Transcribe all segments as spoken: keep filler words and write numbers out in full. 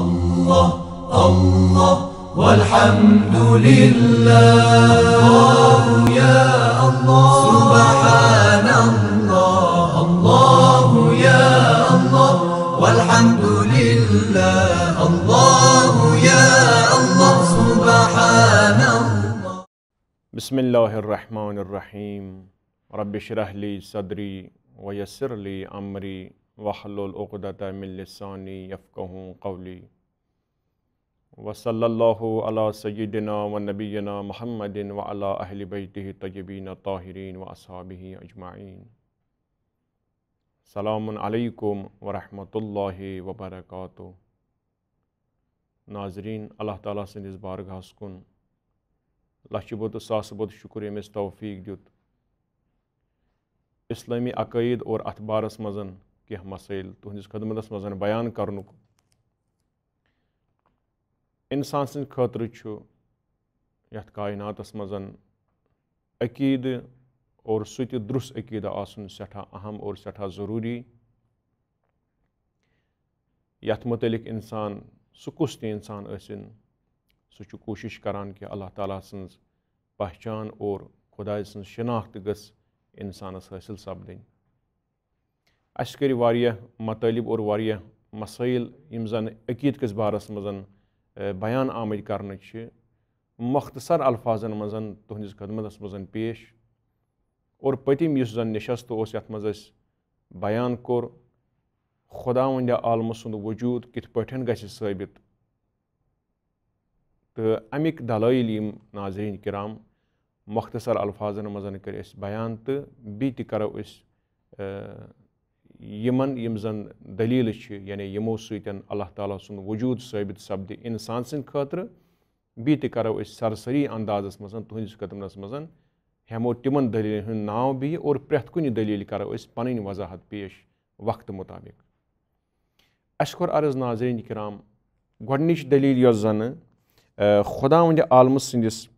الله، الله، والحمد لله. الله يا الله. سبحان الله، الله يا الله، والحمد لله. الله يا الله. سبحان الله. بسم الله الرحمن الرحيم. رب اشرح لي صدري ويسر لي أمري واحلل عقدة من لساني يفقهوا قولي. وصلى الله على سيدنا ونبينا محمد وعلى أهل بيته الطيبين الطاهرين وأصحابه أجمعين. السلام عليكم ورحمة الله وبركاته. ناظرین، اللہ تعالیٰ سٕنٛدِس بارگاہس کُن لچھِ بوٚد تہٕ ساسہٕ بوٚد شُکر، ییٚمۍ اَسہِ توفیٖق دیُت اسلٲمی عقٲیِد اور اَتھ بارس منٛز کینٛہہ مسٲیِل تُہٕنٛدِس خدمتس منٛز بیان کرنُک۔ انسان سٕنٛدِ خٲطرٕ چھُ یَتھ کائناتس منٛز عقیٖدٕ اور سُہ تہِ درُس عقیٖدٕ آسُن سٮ۪ٹھاہ اہم اور سٮ۪ٹھاہ ضروٗری، یَتھ مُتعلِق اِنسان، سُہ کُس تہِ اِنسان ٲسِن، سُہ چھُ کوٗشِش کران کہِ اللہ تعالیٰ سٕنٛز پہچان اور خۄداے سٕنٛز شناخت گٔژھ اِنسانَس حٲصِل سپدٕنۍ۔ اَسہِ کٔرۍ واریاہ مطٲلب اور واریاہ مسٲیِل، یِم زَن عقیٖدٕ کِس بارَس منٛز، اے، بیان آمٕتۍ کرنہٕ چھِ، مۄختصر الفاظن منٛز تُہٕنٛدِس خدمتَس منٛز پیش۔ اور پٔتِم یُس زَن نِشست اوس، یَتھ منٛز اَسہِ بیان کوٚر خۄداوندِ عالمہٕ سُنٛد وجوٗد کِتھ پٲٹھۍ گژھِ ثٲبت، تہٕ اَمِکۍ دلٲیِل یِم ناظریٖن کرام مۄختصر الفاظن منٛز کٔرۍ اَسہِ بیان، تہٕ بیٚیہِ تہِ کرو أسۍ، اے، یِمن یِم زَن دٔلیٖلہٕ چھِ، یعنی یِمو سۭتۍ اللہ تعالیٰ سُنٛد وجوٗد ثٲبت سپدِ اِنسان سٕنٛدِ خٲطرٕ۔ بیٚیہِ تہِ کرو أسۍ سرسری اندازس منٛز تُہٕنٛدِس خدمتس منٛز، ہٮ۪مو تِمن دٔلیٖلن ہُنٛد ناو بیٚیہِ اور پرٛٮ۪تھ کُنہِ دٔلیٖلہِ کرو أسۍ پنٕنۍ وضاحت پیش وقتہٕ مُطابق۔ اَسہِ کوٚر عرض ناظریٖن کرام، گۄڈٕنِچ دٔلیٖل یۄس زَنہٕ، اے، خۄداوندِ عالمہٕ سٕنٛدِس،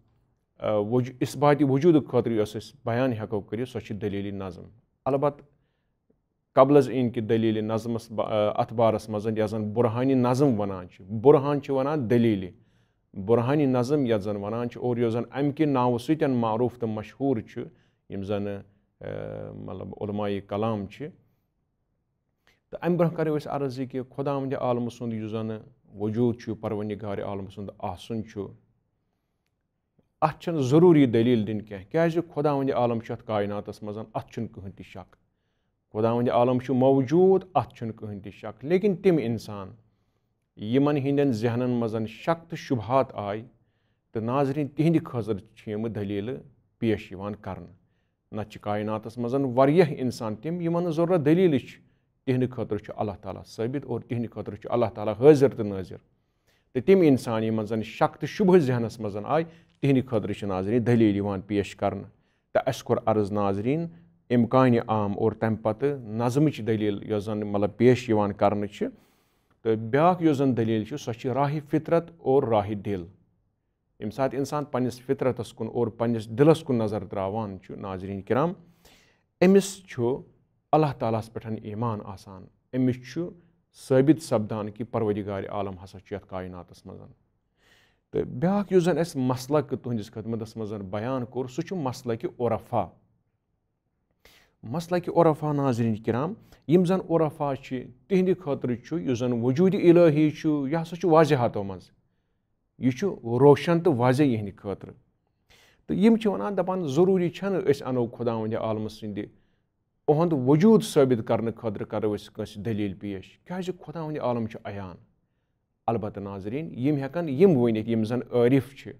اے، وجو-، اثباتِ وجوٗدٕ خٲطرٕ یۄس أسۍ بیان ہٮ۪کو کٔرِتھ، سۄ چھِ دٔلیٖلِ نظم۔ البتہ قبل از این کہِ دٔلیٖلِ نظمس با-، اے، اَتھ بارس منٛز یَتھ زَن برہانِ نظم وَنان چھِ، برہان چھِ وَنان دٔلیٖلہِ، برہانِ نظم یَتھ زَن وَنان چھِ، اور یۄس زَن اَمہِ کہِ ناوٕ سۭتۍ معروٗف تہٕ مشہوٗر چھُ، یِم زَن، اے، مطلب علماء کلام چھِ۔ تہٕ اَمہِ برٛونٛہہ کَرو أسۍ عرض یہِ کہِ خۄداوندِ عالمہٕ سُنٛد یُس زَن وجوٗد چھُ، پروردگارِ عالمہٕ سُنٛد آسُن چھُ، اَتھ چھَنہٕ ضروٗری دٔلیٖل دِنۍ کینٛہہ، کیٛازِ خۄداوندِ عالم چھُ اَتھ کائناتَس منٛز، اَتھ چھُنہٕ کٕہٕنۍ تہِ شک۔ خۄداوندِ عالم چھُ موجوٗد، اَتھ چھُنہٕ کٕہٕنۍ تہِ شک، لیکن تِم اِنسان یِمَن ہٕنٛدٮ۪ن ذہنَن منٛز شک تہٕ شُبہات آے، تہٕ ناظریٖن، تِہِنٛدِ خٲطرٕ چھِ یِم دٔلیٖلہٕ پیش یِوان کرنہٕ۔ نتہٕ چھِ کائناتس منٛز واریاہ انسان تِم، یِمن نہٕ ضروٗرت دٔلیٖلٕچ چھِ۔ تِہنٛدِ خٲطرٕ چھُ اللہ تعالیٰ ثٲبت اور تِہنٛدِ خٲطرٕ چھُ اللہ تعالیٰ حٲضِر تہٕ نٲظِر۔ تہٕ تِم انسان، یِمن زن شک تہٕ شبہٕ ذہنس منٛز آے، تِہنٛدِ خٲطرٕ چھِ ناظریٖن دٔلیٖل یِوان پیش کرنہٕ۔ تہٕ اَسہِ کوٚر عرض ناظریٖن امکانِ عام اور تمہِ پتہٕ نظمٕچ دٔلیٖل یۄس زن مطلب پیش یِوان کرنہٕ چھِ۔ تہٕ بیٛاکھ یۄس زن دٔلیٖل چھِ، سۄ چھِ راہِ فطرت اور راہِ دِل۔ ییٚمہِ ساتہٕ اِنسان پننِس فطرتس کُن اور پننِس دِلس کُن نظر تراوان چھُ، ناظریٖن کرام، أمِس چھُ اللہ تعالیٰ ہس پٮ۪ٹھ ایمان آسان، أمِس چھُ ثٲبت سپدان کہِ پروردگار عالم ہسا چھُ یتھ کائناتس منٛز۔ تہٕ بیٛاکھ یُس زن اَسہِ مسلک تُہنٛدِس خدمتس منٛز بیان کوٚر، سُہ چھُ مسلکِ عرفا۔ مسلکِ عرفا، ناظریٖن کرام، یِم زن عرفا چھِ، تِہنٛدِ خٲطرٕ چھُ یُس زن وجوٗدِ الہی چھُ، یہِ ہسا چھُ واضحاتو منٛز، یہِ چھُ روشن تہٕ واضح یِہنٛدِ خٲطرٕ۔ تہٕ یِم چھِ ونان، دپان، ضروٗری چھنہٕ أسۍ انو خۄداوندِ عالمہٕ سٕنٛدِ، اُہُنٛد وجوٗد ثٲبت کرنہٕ خٲطرٕ کرو أسۍ کٲنٛسہِ دٔلیٖل پیش، کیٛازِ خۄداوندِ عالم چھُ عیان۔ البتہ ناظریٖن، یِم ہٮ۪کن یِم ؤنِتھ، یِم زن عٲرِف چھِ،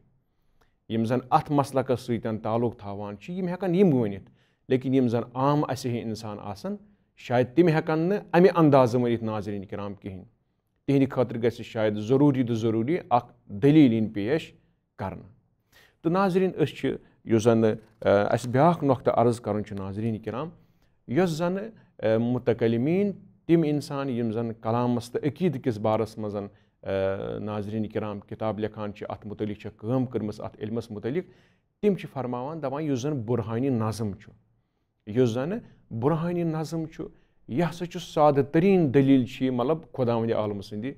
یِم زن اتھ مسلکس سۭتۍ تعلق تھاوان چھِ، یِم ہٮ۪کن یِم ؤنِتھ، لیکن یِم زن عام اسہِ ہی انسان آسن، شاید تِم ہٮ۪کن نہٕ امہِ اندازٕ ؤنِتھ، ناظریٖن کرام، کِہینۍ۔ تِہنٛدِ خٲطرٕ گژھِ شاید ضروٗری تہٕ ضروٗری اکھ دٔلیٖل یِنۍ پیش کرنہٕ۔ تہٕ ناظریٖن، أسۍ چھِ، یُس زن، آ، اسہِ بیٛاکھ نۄقطہٕ عرض کرُن چھُ، ناظریٖن کرام، یۄس زن، آ، متکلمین، تِم انسان یِم زن کلامس تہٕ عقیدٕ کِس بارس منٛز، آ، ناظریٖن کرام، کتاب لیکھان چھِ، اتھ متعلق چھِ کٲم کٔرمٕژ، اتھ علمس متعلق، تِم چھِ فرماوان، دپان، یُس زن برہانِ نظم چھُ، یُس زن برہانِ نظم چھُ، یہِ ہسا چھُ سادٕ تریٖن دٔلیٖل چھِ یہِ، مطلب، خۄداوندِ عالمہٕ سٕنٛدِ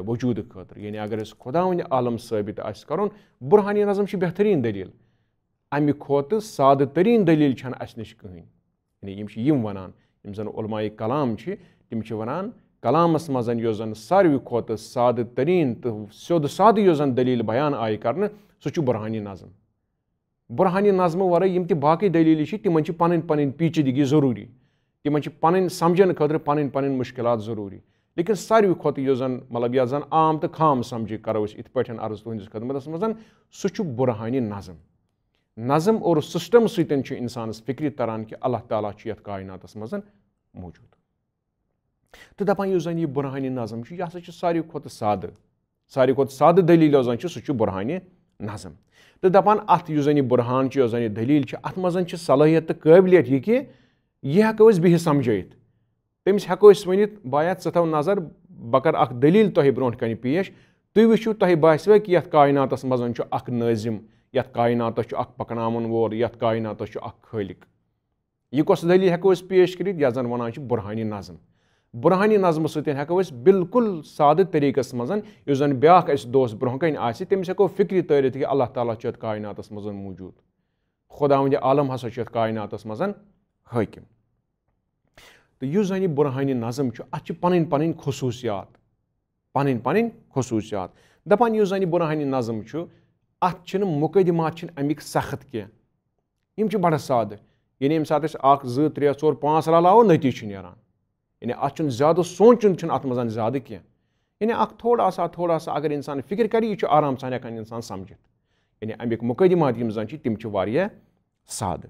وجوٗدٕ خٲطرٕ۔ یعنی اگر أسۍ خۄداوندِ عالم ثٲبت آسہِ کرُن، برہانِ نظم چھِ بہتریٖن دٔلیٖل۔ امہِ کھۄتہٕ سادٕ تریٖن دٔلیٖل چھنہٕ اسہِ نِش کٕہٕنۍ۔ یعنی یِم چھِ یِم ونان، یِم زن علماء کلام چھِ، تِم چھِ ونان، کلامس منٛز یۄس زن ساروی کھۄتہٕ سادٕ تریٖن تہٕ سیوٚد سادٕ یۄس زن دٔلیٖل بیان آیہِ کرنہٕ، سُہ چھُ برہانِ نظم۔ برہانِ نظمہٕ ورٲے یِم تہِ باقٕے دٔلیٖلہٕ چھِ، تِمن چھِ پنٕنۍ پنٕنۍ پیچیدگی ضروٗری، تِمن چھِ پنٕنۍ سمجھنہٕ خٲطرٕ پنٕنۍ پنٕنۍ مشکلات ضروٗری۔ لیکن ساروی کھۄتہٕ یُس زن، مطلب، یتھ زن عام تہٕ خام سمجھِ کرو أسۍ یِتھ پٲٹھۍ عرض تُہنٛدِس خدمتس منٛز، سُہ چھُ برہانِ نظم۔ نظم اور سسٹم سۭتۍ چھُ انسانس فکرِ تران کہِ اللہ تعالیٰ چھُ یتھ کائناتس منٛز موجود۔ تہٕ دپان یُس زن یہِ برہانِ نظم چھُ، یہِ ہسا چھُ ساروی کھۄتہٕ سادٕ، ساروی کھۄتہٕ سادٕ دٔلیٖل یۄس زن چھِ، سُہ چھُ برہانِ نظم۔ تہٕ دپان اتھ یُس زن یہِ برہان چھُ، یۄس زن یہِ دٔلیٖل چھِ، اتھ منٛز چھِ صلٲحیت تہٕ قٲبلیت یہِ کہِ یہِ ہٮ۪کو أسۍ بِہِتھ سمجھٲیِتھ۔ تٔمِس ہٮ۪کو أسۍ ؤنِتھ، بایا، ژٕ تھاو نظر، بہٕ کرٕ اکھ دٔلیٖل تۄہہِ برونٛٹھ کنہِ پیش، تُہۍ وٕچھِو، تۄہہِ باسِوٕ کہِ یتھ کائناتس منٛز چھُ اکھ نٲظم، یتھ کائناتس چھُ اکھ پکناون وول، یتھ کائناتس چھُ اکھ خٲلق۔ یہِ کۄس دٔلیٖل ہٮ۪کو أسۍ پیش کٔرِتھ؟ یتھ زن ونان چھِ برہانِ نظم۔ برہانِ نظمہٕ سۭتۍ ہٮ۪کو أسۍ بالکل سادٕ طریٖقس منٛز، یُس زن بیٛاکھ اَسہِ دوست برونٛہہ کنہِ آسہِ، تٔمِس ہٮ۪کو فکرِ تٲرِتھ کہِ اللہ تعالیٰ چھُ یتھ کائناتس منٛز موجود، خداوندِ عالم ہسا چھُ یتھ کائناتس منٛز حٲکم۔ تہٕ یُس زن یہِ برہانِ نظم چھُ، اتھ چھِ پنٕنۍ پنٕنۍ خصوٗصیات، پنٕنۍ پنٕنۍ خصوٗصیات۔ دپان یُس زن یہِ برہانِ نظم چھُ، اتھ چھِنہٕ مقدمات چھِنہٕ امیِکۍ سخت کینٛہہ، یِم چھِ بڑٕ سادٕ۔ یعنی ییٚمہِ ساتہٕ أسۍ اکھ، زٕ، ترٛےٚ، ژور، پانٛژھ رلاوو، نتیٖجہٕ چھُ نیران۔ یعنی اتھ چھُنہٕ زیادٕ سونٛچُن چھُنہٕ اتھ منٛز زیادٕ کینٛہہ۔ یعنی اکھ تھوڑا سا، تھوڑا سا اگر انسان فکر کرِ، یہِ چھُ آرام سان ہٮ۪کان انسان سمجھِتھ۔ یعنی امیِکۍ مقدمات یِم زن چھِ، تِم چھِ واریاہ سادٕ۔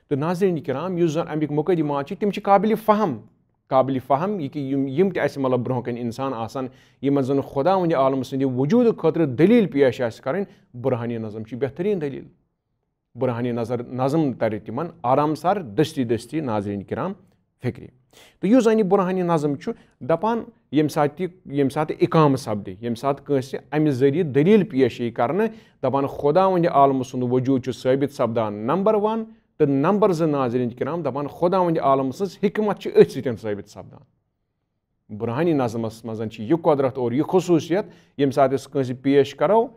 تہٕ ناظرین کرام، یُس زن امیِکۍ مقدمات چھِ، تِم چھِ قابل فہم، قابل فہم، یہِ کہِ یِم، یِم تہِ اسہِ، مطلب، برونٛہہ کنہِ انسان آسن، یِمن زن خداوندِ عالم سٕنٛدِ وجوٗدٕ خٲطرٕ دٔلیٖل پیش آسہِ کرٕنۍ، برہانِ نظم چھِ بہتریٖن دٔلیٖل۔ برہانِ نظر، نظم ترِ تِمن آرام سان دستی دستی، ناظرین کرام، فکرِ۔ تہٕ یُس زن یہِ برہانِ نظم چھُ دپان، ییٚمہِ ساتہٕ تہِ، ییٚمہِ ساتہٕ اقامہٕ سپدِ، ییٚمہِ ساتہٕ کٲنٛسہِ امہِ ذٔریعہٕ دٔلیٖل پیش یی کرنہٕ، دپان خداوندِ عالمہٕ سُنٛد وجوٗد چھُ ثٲبت سپدان، نمبر ون، تہٕ نمبر زٕ، ناظرین کرام، دپان خداوندِ عالمہٕ سٕنٛز حکمت چھِ أتھۍ سۭتۍ ثٲبت سپدان۔ برہانِ نظمس منٛز چھِ یہِ قدرت اور یہِ خصوٗصیت، ییٚمہِ ساتہٕ أسۍ کٲنٛسہِ پیش کرو،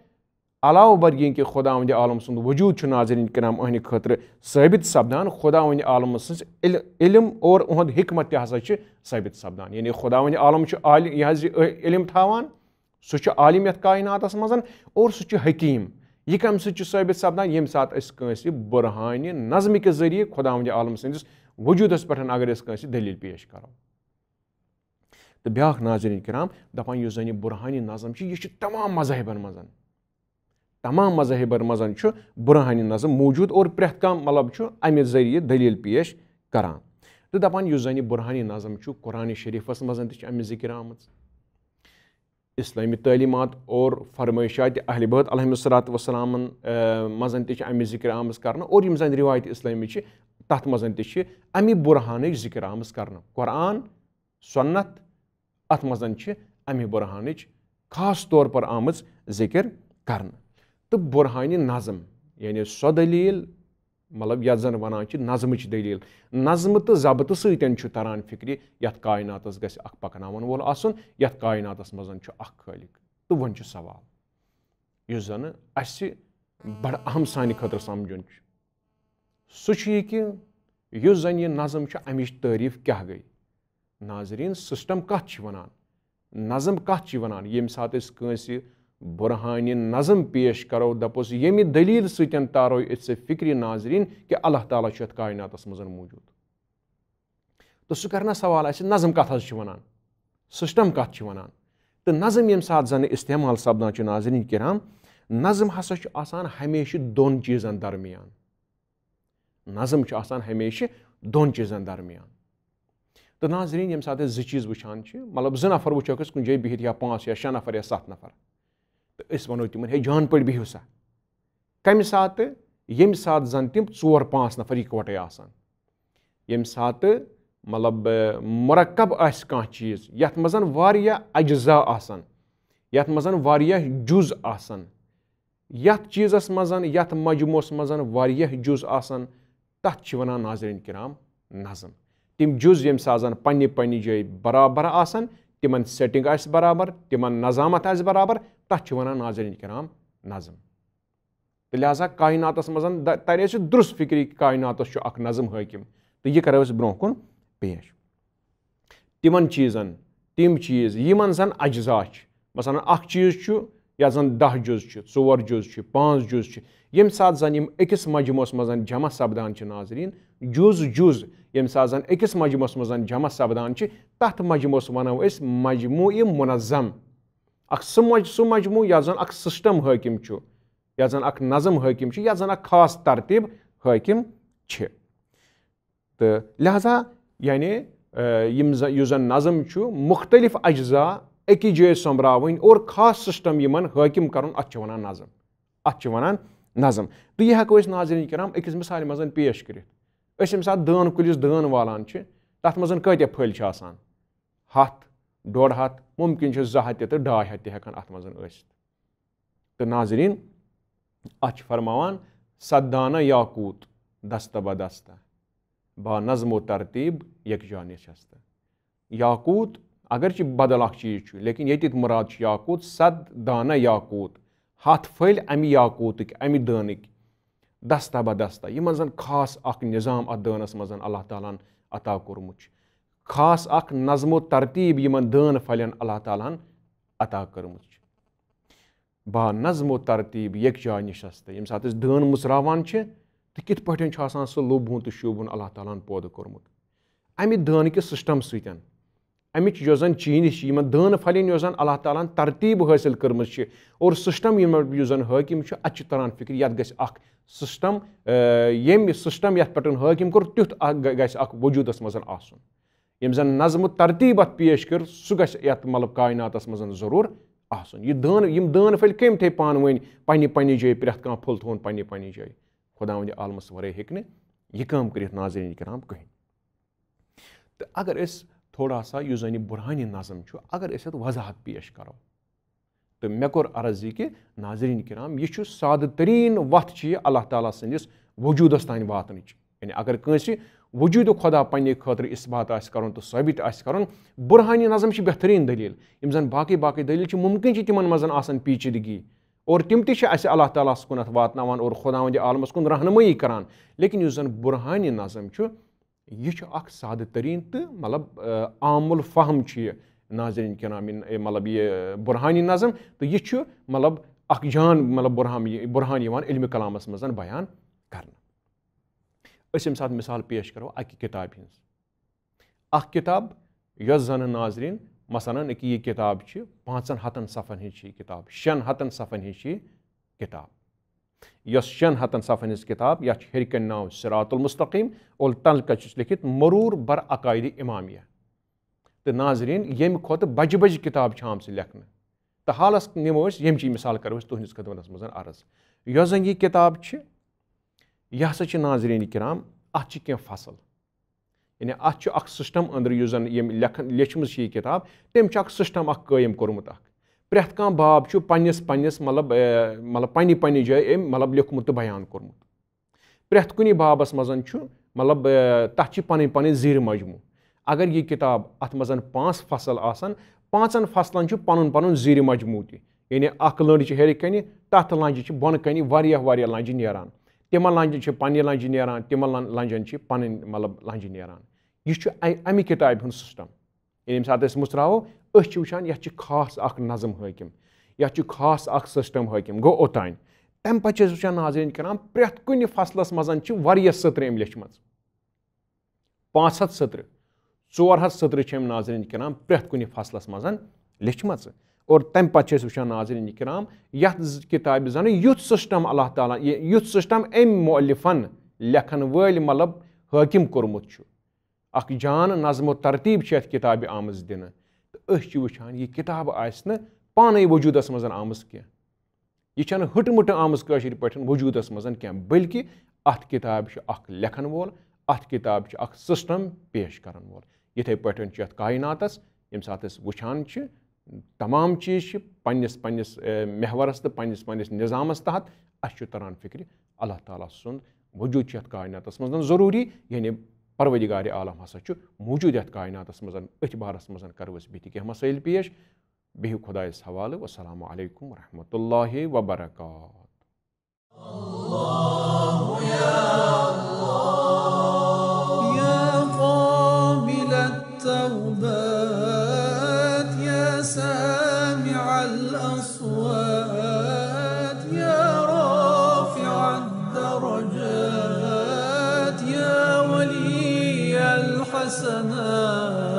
علاوٕ بر ییٚمہِ کہِ خداوندِ عالم سُنٛد وجوٗد چھُ، ناظرین کرام، أہنٛدِ خٲطرٕ ثٲبت سپدان، خداوندِ عالم سٕنٛز عل-، علم اور اُہُنٛد حکمت تہِ ہسا چھِ ثٲبت سپدان۔ یعنی خداوندِ عالم چھُ عال-، یہِ حظ یہِ علم تھاوان، سُہ چھُ عالم یتھ کائناتس منٛز اور سُہ چھُ حکیم۔ یہِ کمہِ سۭتۍ چھُ ثٲبت سپدان؟ ییٚمہِ ساتہٕ أسۍ کٲنٛسہِ برہانِ نظمہٕ کہِ ذٔریعہٕ خداوندِ عالم سٕنٛدِس وجوٗدس پٮ۪ٹھ اگر أسۍ کٲنٛسہِ دٔلیٖل پیش کرو۔ تہٕ بیٛاکھ، ناظرین کرام، دپان یُس زن یہِ برہانِ نظم چھُ، یہِ چھُ تمام مذاہبن منٛز، تمام مذاہبن منٛز چھُ برہانِ نظم موجود اور پرٛٮ۪تھ کانٛہہ، مطلب، چھُ امہِ ذٔریعہٕ دٔلیٖل پیش کران۔ تہٕ دپان یُس زن یہِ برہانِ نظم چھُ، قرآن شریفس منٛز تہِ چھِ امِچ ذکر آمٕژ، اسلامی تعلیمات اور فرمٲیشات اہل بیت علیہم الصلوۃ والسلامن، آ، منٛز تہِ چھِ امِچ ذکر آمٕژ کرنہٕ اور یِم زن روایت اسلامی چھِ، تتھ منٛز تہِ چھِ امہِ برہانٕچ ذکر آمٕژ کرنہٕ۔ قرآن، سنت، اتھ منٛز چھِ امہِ برہانٕچ خاص طور پر آمٕژ ذکر کرنہٕ۔ تہٕ برہانِ نظم، یعنی سۄ دٔلیٖل، مطلب، یتھ زن ونان چھِ نظمٕچ دٔلیٖل، نظمہٕ تہٕ ضبطہٕ سۭتۍ چھُ تران فکرِ، یتھ کائناتس گژھِ اکھ پکناون وول آسُن، یتھ کائناتس منٛز چھُ اکھ خٲلق۔ تہٕ وۄنۍ چھُ سوال، یُس زن اسہِ بڑٕ اہم سانہِ خٲطرٕ سمجھُن چھُ، سُہ چھُ یہِ کہِ یُس زن یہِ نظم چھُ، امِچ تعریف کیٛاہ گٔے؟ ناظرین، سسٹم کتھ چھِ ونان؟ نظم کتھ چھِ ونان؟ ییٚمہِ ساتہٕ أسۍ کٲنٛسہِ برہانِ نظم پیش کرو، دپوس، ییٚمہِ دلیل سۭتۍ تارو أسۍ ژےٚ فکرِ، ناظرین، کہِ اللہ تعالیٰ چھُ یتھ کائناتس منٛز موجود۔ تہٕ سُہ کرِ نا سوال اسہِ، نظم کتھ حظ چھِ ونان؟ سسٹم کتھ چھِ ونان؟ تہٕ نظم ییٚمہِ ساتہٕ زن استعمال سپدان چھُ، ناظرین کرام، نظم ہسا چھُ آسان ہمیشہِ دۄن چیٖزن درمیان۔ نظم چھُ آسان ہمیشہِ دۄن چیٖزن درمیان۔ تہٕ ناظرین، ییٚمہِ ساتہٕ أسۍ زٕ چیٖز وٕچھان چھِ، مطلب، زٕ نفر وٕچھوکھ أسۍ کُنہِ جایہِ بِہِتھ، یا پانٛژھ یا شےٚ نفر یا ستھ نفر، تہٕ أسۍ ونو تِمن، ہے، جان پٲٹھۍ بِہِو سا۔ کمہِ ساتہٕ؟ ییٚمہِ ساتہٕ زن تِم ژور پانٛژھ نفر یِکوٹے آسن، ییٚمہِ ساتہٕ، مطلب، مرکب آسہِ کانٛہہ چیٖز، یتھ منٛز واریاہ اجزا آسن، یتھ منٛز واریاہ جُز آسن، یتھ چیٖزس منٛز، یتھ مجموعس منٛز واریاہ جُز آسن، تتھ چھِ ونان، ناظرین کرام، نظم۔ تِم جُز ییٚمہِ ساتہٕ زن پننہِ پننہِ جایہِ برابر آسن، تِمن سیٹنگ آسہِ برابر، تِمن نظامت آسہِ برابر، تتھ چھِ ونان ناظرین کرام نظم۔ تہٕ لہذا کائناتس منٛز ترِ اَسہِ درست فکری کہِ کائناتس چھُ اکھ نظم حٲکم، تہٕ یہِ کرو أسۍ برونٛہہ کُن پیش۔ تِمن چیٖزن، تِم چیٖز یِمن زن اجزا چھِ، مثلاً اکھ چیٖز چھُ یتھ زن دَہ جُز چھِ، ژور جُز چھِ، پانٛژھ جُز چھِ، ییٚمہِ ساتہٕ زن یِم أکِس مجموعس منٛز جمع سپدان چھِ ناظرین، جُز جُز ییٚمہِ ساتہٕ زن أکِس مجموعس منٛز جمع سپدان چھِ، تتھ مجموعس ونو أسۍ مجموعہ منظم۔ اکھ سُہ مج-، سُہ مجموعہ یتھ زن اکھ سسٹم حٲکم چھُ، یتھ زن اکھ نظم حٲکم چھُ، یتھ زن اکھ خاص ترتیب حٲکم چھِ۔ تہٕ لہذا یعنی، آ، یِم زن، یُس زن نظم چھُ، مختلف اجزا أکِس جایہِ سوٚمبراوٕنۍ اور خاص سسٹم یِمن حٲکم کرُن، اتھ چھِ ونان نظم۔ اتھ چھِ ونان نظم۔ تہٕ یہِ ہٮ۪کو أسۍ ناظرین کرام أکِس مثالہِ منٛز پیش کٔرِتھ۔ أسۍ ییٚمہِ ساتہٕ دٲن کُلِس دٲن والان چھِ، تتھ منٛز کۭتیاہ پھٔلۍ چھِ آسان؟ ہتھ، ڈۄڈ ہتھ، ممکن چھُ زٕ ہتھ تہِ تہٕ ڈاے ہتھ تہِ ہٮ۪کن اتھ منٛز ٲسِتھ۔ تہٕ ناظرین، اتھ چھِ فرماوان، سدانہ یاقوت دستہ بہ دستہ، با نظم و ترتیب یکجا نشستہ۔ یاقوت، اگرچہ بدل اکھ چیٖز چھُ، لیکن ییٚتہِ مراد چھُ یاقوت، سد دانہ یاقوت، ہتھ پھٔلۍ امہِ یاقوتٕکۍ، امہِ دٲنٕکۍ، دستہ بہ دستہ، یِمن زن خاص اکھ نظام اتھ دٲنس منٛز اللہ تعالیٰ ہن عطا کوٚرمُت چھُ، خاص اکھ نظم و ترتیب یِمن دٲن پھلٮ۪ن اللہ تعالیٰ ہن عطا کٔرمٕژ چھِ۔ با نظم و ترتیب یکجا نشستہ۔ ییٚمہِ ساتہٕ أسۍ دٲن مُژراوان چھِ، تہٕ کِتھ پٲٹھۍ چھُ آسان سُہ لوٚبہُن تہٕ شوٗبہُن اللہ تعالیٰ ہن پٲدٕ کوٚرمُت۔ امہِ دٲنہٕ کہِ سسٹم سۭتۍ، امِچ یۄس زن چینج چھِ، یِمن دٲن پھلٮ۪ن یۄس زن اللہ تعالیٰ ہن ترتیب حٲصِل کٔرمٕژ چھِ، اور سسٹم یِم، یُس زن حٲکم چھُ، اتہِ چھُ تران فکرِ، یتھ گژھِ اکھ سسٹم، آ، ییٚمہِ سسٹم یتھ پٮ۪ٹھ حٲکم کوٚر، تیُتھ اکھ گژھِ اکھ وجوٗدس منٛز آسُن۔ یِم زن نظم و ترتیب اتھ پیش کٔر، سُہ گژھِ یتھ، مطلب، کائناتس منٛز ضروٗر آسُن۔ یہِ دٲن، یِم دٲن پھٔلۍ کٔمۍ تھٲے پانہٕ ؤنۍ پننہِ پننہِ جایہِ، پرٛٮ۪تھ کانٛہہ پھوٚل تھوٚوُن پننہِ پننہِ جایہِ؟ خداوندِ عالمس ورٲے ہیٚکہِ نہٕ یہِ کٲم کٔرِتھ، ناظرین کرام، کٕہٕنۍ۔ تہٕ اگر أسۍ تھوڑا سا یُس زن یہِ برہانِ نظم چھُ، اگر أسۍ اتھ وضاحت پیش کرو، تہٕ مےٚ کوٚر عرض یہِ کہِ ناظرین کرام، یہِ چھُ سادٕ تریٖن وتھ چھِ یہِ اللہ تعالیٰ سٕنٛدِس وجوٗدس تام واتنٕچ۔ یعنی اگر کٲنٛسہِ وجوٗد خدا پننہِ خٲطرٕ اثبات آسہِ کرُن تہٕ ثٲبت آسہِ کرُن، برہانِ نظم چھِ بہتریٖن دٔلیٖل۔ یِم زن باقٕے باقٕے دٔلیٖل چھِ، ممکن چھِ تِمن منٛز آسان پیچیدگی، اور تِم تہِ چھِ اسہِ اللہ تعالیٰ ہس کُنتھ واتناوان اور خداوندِ عالمس کُن رہنمٲیی کران۔ لیکن یُس زن برہانِ نظم چھُ، یہِ چھُ اکھ سادٕ تریٖن تہٕ، مطلب، آ، عام الفہم چھُ یہِ، ناظرین کرام، یہِ، مطلب، یہِ برہانِ نظم، تہٕ یہِ چھُ، مطلب، اکھ جان، مطلب، برہان، یہِ برہان یِوان علمِ کلامس منٛز بیان کرنہٕ۔ أسۍ ییٚمہِ ساتہٕ مثال پیش کرو اکہِ کتابہِ ہٕنٛز، اکھ کتاب یۄس زن، ناظرین، مثلاً، أکہِ یہِ کتاب چھِ پانٛژن ہتن صفحن ہٕنٛز چھِ یہِ کتاب، شٮ۪ن ہتن صفحن ہٕنٛز چھِ یہِ کتاب، یۄس شٮ۪ن ہتن صفحن ہٕنٛز کتاب، یتھ چھُ ہیٚرِ کنہِ ناو صراط المستقیم، اور تلہٕ کنہِ چھُس لیٚکھِتھ مرور بر عقائد امامیہ۔ تہٕ ناظرین، ییٚمہِ کھۄتہٕ بجہِ بجہِ کتاب چھِ آمژٕ لیکھنہٕ۔ تہٕ حالس نِمو أسۍ، ییٚمہِ چی مثال کرو أسۍ تُہنٛدِس خدمتس منٛز عرض۔ یۄس زن یہِ کتاب چھِ، یہِ ہسا چھِ، ناظرین کرام، اتھ چھِ کینٛہہ فصل۔ یعنی اتھ چھُ اکھ سسٹم أنٛدرٕ، یُس زن ییٚمۍ لیکھن، لیچھمٕژ چھِ یہِ کتاب، تٔمۍ چھُ اکھ سسٹم اکھ قٲیِم کوٚرمُت اکھ۔ پرٛٮ۪تھ کانٛہہ باب چھُ پننِس، پننِس، مطلب، اے، مطلب، پننہِ پننہِ جایہِ أمۍ، مطلب، لیوٚکھمُت تہٕ بیان کوٚرمُت۔ پرٛٮ۪تھ کُنہِ بابس منٛز چھُ، مطلب، اے، تتھ چھِ پنٕنۍ پنٕنۍ زیٖرِ مجموع۔ اگر یہِ کتاب، اتھ منٛز پانٛژھ فصل آسن، پانٛژن فصلن چھُ پنُن پنُن زیٖرِ مجموع تہِ۔ یعنی اکھ لٔنٛڈ چھِ ہیٚرِ کنہِ، تتھ لنٛجہِ چھِ بۄنہٕ کنہِ واریاہ واریاہ لنٛجہِ نیران۔ تِمن لنجن چھِ پننہِ لنجہِ نیران، تِمن لن-، لنجن چھِ پنٕنۍ، مطلب، لنجہِ نیران۔ یہِ چھُ اَ-، اَمہِ کتابہِ ہُنٛد سسٹم۔ ییٚلہِ ییٚمہِ ساتہٕ أسۍ مُژراوو، أسۍ چھِ وٕچھان، یتھ چھِ خاص اکھ نظم حٲکم، یتھ چھُ خاص اکھ سسٹم حٲکم۔ گوٚو اوٚتام۔ تمہِ پتہٕ چھِ أسۍ وٕچھان، ناظرین کرام، پرٛٮ۪تھ کُنہِ فصلس منٛز چھِ واریاہ سطرٕ أمۍ لیچھمٕژ۔ پانٛژھ ہتھ سطرٕ، ژور ہتھ سطرٕ چھِ أمۍ، ناظرین کرام، پرٛٮ۪تھ کُنہِ فصلس منٛز لیچھمژٕ۔ اور تمہِ پتہٕ چھِ أسۍ وٕچھان، ناظرین کرام، یتھ ز-، کتابہِ زن یُتھ سسٹم اللہ تعالیٰ، یہِ، یُتھ سسٹم أمۍ مؤلفن، لیکھن وٲلۍ، مطلب، حٲکم کوٚرمُت چھُ۔ اکھ جان نظم و ترتیب چھِ یتھ کتابہِ آمٕژ دِنہٕ۔ تہٕ أسۍ چھِ وٕچھان، یہِ کتاب آسہِ نہٕ پانے وجوٗدس منٛز آمٕژ کینٛہہ۔ یہِ چھَنہٕ ہٕٹہٕ مٕٹہٕ آمٕژ کٲشِر پٲٹھۍ وجوٗدس منٛز کینٛہہ، بلکہِ اتھ کتابہِ چھُ اکھ لیکھن وول، اتھ کتابہِ چھُ اکھ سسٹم پیش کرن وول۔ یِتھے پٲٹھۍ چھُ یتھ کائناتس، ییٚمہِ ساتہٕ أسۍ وٕچھان چھِ، تمام چیٖز چھِ پننِس پننِس، اے، محورس تہٕ پننِس پننِس نظامس تحت۔ اسہِ چھُ تران فکرِ، اللہ تعالیٰ سُنٛد وجوٗد چھُ یتھ کائناتس منٛز ضروٗری، یعنی پروردگار عالم ہسا چھُ موجود یتھ کائناتس منٛز۔ أتھۍ بارس منٛز کرو أسۍ بیٚیہِ تہِ کینٛہہ مسائل پیش۔ بِہِو خۄدایَس حوالہٕ۔ والسلام علیکم ورحمۃ اللہ وبرکاتہ۔ يا قابل التوبات، يا سامع الأصوات، يا رافع الدرجات، يا ولي الحسنات،